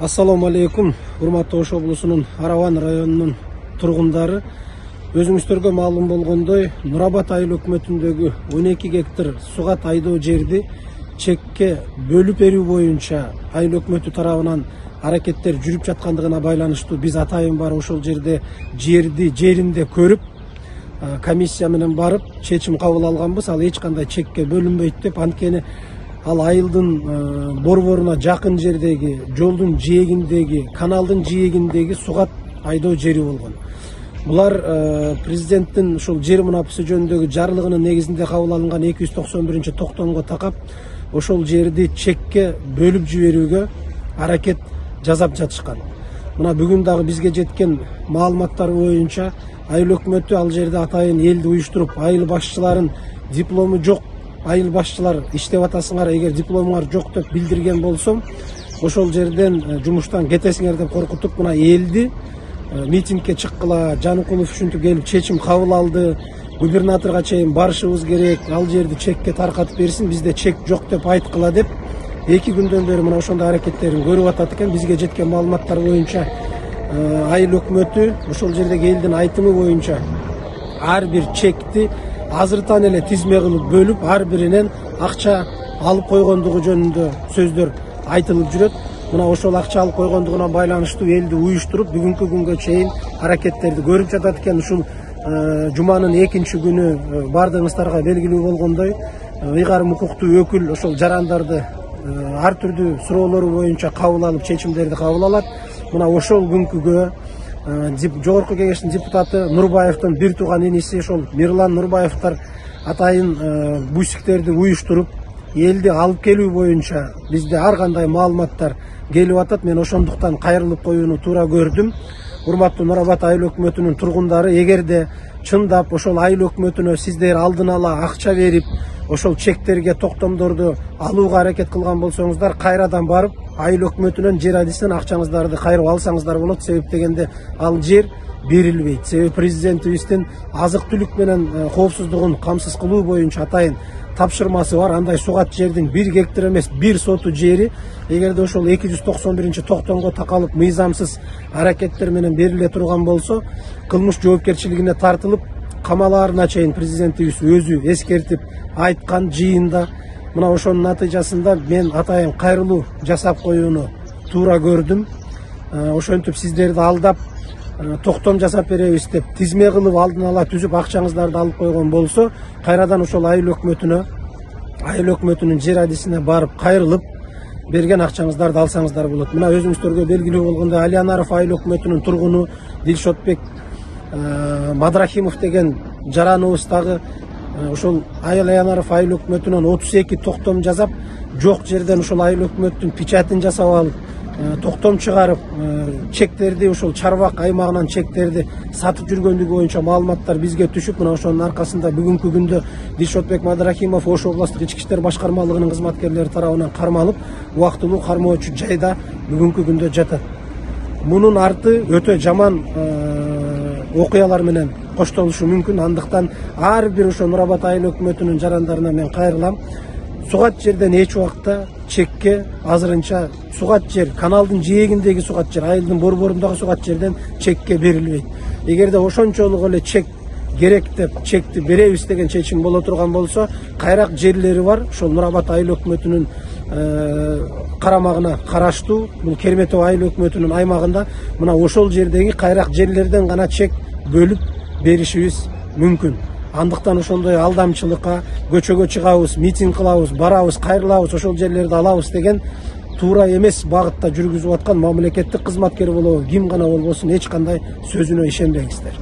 Ассаламу алейкум, урматтуу Ош облусунун Араван районунун тургундары. Өзүңүздөргө маалым болгондой, Нур Абад айыл өкмөтүндөгү 12 гектар сугат айдоо жерди чекке бөлүп берүү боюнча айыл өкмөтү тарабынан аракеттер жүрүп жаткандыгына байланыштуу биз атайын барып ошол жерди жеринде көрүп, комиссия менен барып чечим кабыл алганбыз. Ал эч кандай чекке бөлүнбөйт деп, анткени ал айылдын борборуна жакын жердеги, жолдун жээгиндеги, каналдын жээгиндеги сугат айдоо жери болгон. Булар президенттин ушул жер мунапысы жөнүндөгү жарлыгынын негизинде кабыл алынган 291-токтомго такап ошол жерди чекке бөлүп жиберүүгө аракет жасап жатышкан. Мына бүгүн дагы бизге жеткен маалыматтар боюнча айыл өкмөтү ал жерде атайын элди уюштуруп, айыл башчыларын диплому жок айыл башчылар иштеп атасыңар, эгер дипломуңар жок деп билдирген болсом, ошол жерден жумуштан кетесиңер деп коркутуп, мына элди митингге чыккыла, Жаныкулов ушинтип келип чечим кабыл алды, губернаторго чейин барышыбыз керек, ал жерди чекке таркатып берсин, бизде чек жок деп айткыла деп 2 күндөн бери мына ошондой аракеттерин көрүп атат экен. Бизге жеткен маалыматтар боюнча айыл өкмөтү ошол жердеги элдин айтымы боюнча ар бир чекти азыртан эле тизме кылып бөлүп, ар биринен акча алып койгондугу жөнүндө сөздөр айтылып жүрөт. Мына ошол акча алып койгондугуна байланыштуу элди уюштуруп, бүгүнкү күнгө чейин аракеттерди көрүп жатат экен. Ушул жуманын 2-нчи күнү бардыгыңыздарга белгилүү болгондой, ыйгарым укуктуу өкүл ошол жарандарды ар түрдүү суроолору боюнча кабыл алып, чечимдерди кабыл алат. Мына ошол күнкүгө Жогорку кеңештин депутаты Нурбаевдин бир тууган иниси ошол Мирлан Нурбаевдер атайын бусиктерди уюштуруп, элди алып келүү боюнча бизде ар кандай маалыматтар келип атат. Мен ошондуктан кайрылып коюуну туура көрдүм. Урматтуу Нур Абад айыл өкмөтүнүн тургундары, эгерде чындап ошол айыл өкмөтүнө сиздер алдын ала акча берип, ошол чектерге токтомдорду алууга аракет кылган болсоңуздар, кайрадан барып айыл өкмөтүнөн жер адисинен акчаңыздарды кайрып алсаңыздар болот. Себеп дегенде ал жер берилбейт. Себеби президентибиздин азык түлүк менен коопсуздугун камсыз кылуу боюнча атайын тапшырмасы бар. Андай сугат жердин 1 гектар эмес 1 соту жери эгерде ошол 291-токтомго такалып мыйзамсыз аракеттер менен бериле турган болсо, кылмыш жоопкерчилигине тартылып, камалаарына чейин президентибиз өзү эскертип айткан жыйында. Мына ошонун натыйжасында мен атайын кайрылуу жасап коюуну туура көрдүм. Ошентип сиздерди алдап токтом жасап беребиз деп тизме кылып алдын ала түзүп акчаңыздарды алып койгон болсо, кайрадан ошол айыл өкмөтүнүн жер адисине барып кайрылып берген акчаңыздарды алсаңыздар болот. Мына өзүңүздөргө белгилүү болгондой, Алиянаров айыл өкмөтүнүн тургуну Дилшотбек Мадрахимов деген жараныбыз дагы ошол Алиянаров айыл өкмөтүнөн 32 токтом жасап, жок жерден ошол айыл өкмөттүн печатын жасап алып, токтом чыгарып, чектерди ошол Чарбак аймагынан чектерди сатып жүргөндүгү боюнча маалыматтар бизге түшүп, мына ошонун аркасында бүгүнкү күндө Дилшотбек Мадрахимов Ош областтык ички иштер башкармалыгынын кызматкерлери тарабынан кармалып, убактылуу кармоочу жайда бүгүнкү күндө жатат. Мунун арты өтө жаман окуялар менен коштолушу мүмкүн. Андыктан ар бир ошо Нур Абад айыл өкмөтүнүн жарандарына мен кайрылам. Сугат жерден эч убакта чекке азырынча сугат жер, каналдын жээгиндеги сугат жер, айылдын борборундагы сугат жерден чекке берилбейт. Эгерде ошончолук эле чек керек деп чекти беребиз деген чечим боло турган болсо, кайрак жерлери бар, ошол Нур Абад айыл өкмөтүнүн карамагына караштуу, бул Керметов айыл өкмөтүнүн аймагында, мына ошол жердеги кайрак жерлерден гана чек бөлүп беришибиз мүмкүн. Андыктан ошондой алдамчылыкка көчөгө чыгабыз, митинг кылабыз, барабыз, кайрылабыз, ошол жерлерди алабыз деген туура эмес багытта жүргүзүп аткан мамлекеттик кызматкер болобу, ким гана болбосун, эч кандай сөзүнө ишенбеңиздер.